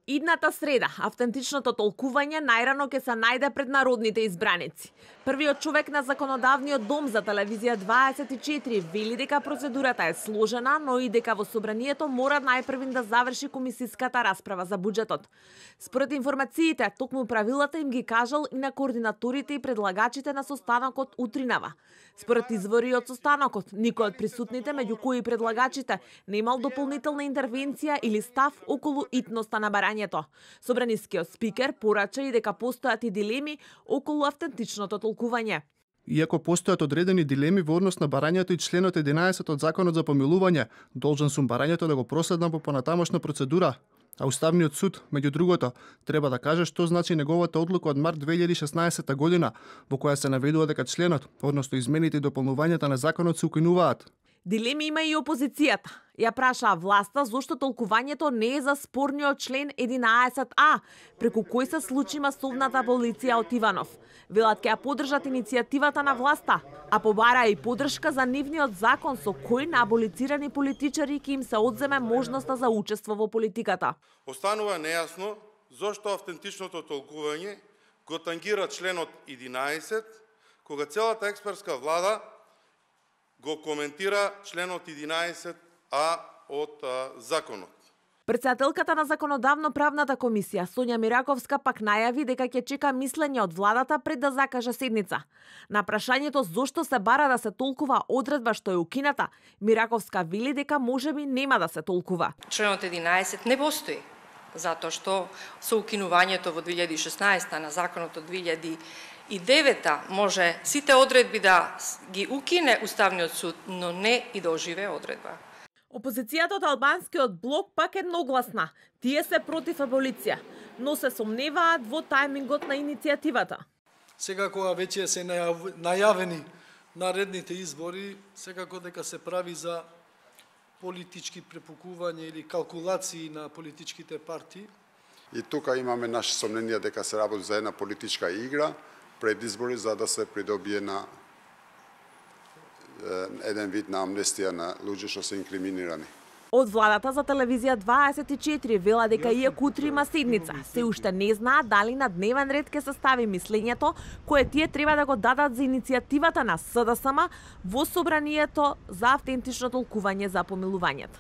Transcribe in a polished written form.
Идната среда, автентичното толкување најрано ќе се најде пред народните избраници. Првиот човек на Законодавниот дом за телевизија 24 вели дека процедурата е сложена, но и дека во собранието мора најпрвин да заврши комисиската расправа за буџетот. Според информациите, токму правилата им ги кажал и на координаторите и предлагачите на состанокот утринава. Според извори од состанокот, никој од присутните, меѓу кои и предлагачите, не имал дополнителна интервенција или став околу итноста на барањето. Собранискиот спикер порача и дека постојат и дилеми околу автентичното толкување. Иако постојат одредени дилеми во однос на барањето и членот 11 од Законот за помилување, должен сум барањето да го проследам по понатамошна процедура. А Уставниот суд, меѓу другото, треба да каже што значи неговата одлука од март 2016 година, во која се наведува дека членот, односно измените и дополнувањата на законот се укинуваат. Дилеми има и опозицијата. Ја прашаа власта зошто толкувањето не е за спорниот член 11А, преку кој се случи масовната аболиција од Иванов. Велат ќе ја поддржат иницијативата на власта, а побараа и поддршка за нивниот закон со кој на аболицирани политичари ќе им се одземе можноста за учество во политиката. Останува нејасно зошто автентичното толкување го тангира членот 11, кога целата експертска влада го коментира членот 11А од законот. Претседателката на Законодавно-правната комисија Сонја Мираковска пак најави дека ќе чека мислење од владата пред да закаже седница. На прашањето зошто се бара да се толкува одредба што е укината, Мираковска вели дека можеби нема да се толкува. Членот 11 не постои, затоа што со укинувањето во 2016 на законот од 2009 може сите одредби да ги укине Уставниот суд, но не и да оживее одредба. Опозицијата од албанскиот блок пак едногласна. Тие се против аболиција, но се сомневаат во тајмингот на иницијативата. Сега кога веќе се најавени наредните избори, секако дека се прави за политички препукување или калкулации на политичките партии. И тука имаме наши сомненија дека се работи за една политичка игра пред избори за да се придобие на еден вид на амнестија на луѓе што се инкриминирани. Од владата за телевизија 24 вела дека иако утре има седница, се уште не знаат дали на дневен ред ќе се стави мислењето кое тие треба да го дадат за иницијативата на СДСМ во собранието за автентично толкување за помилувањето.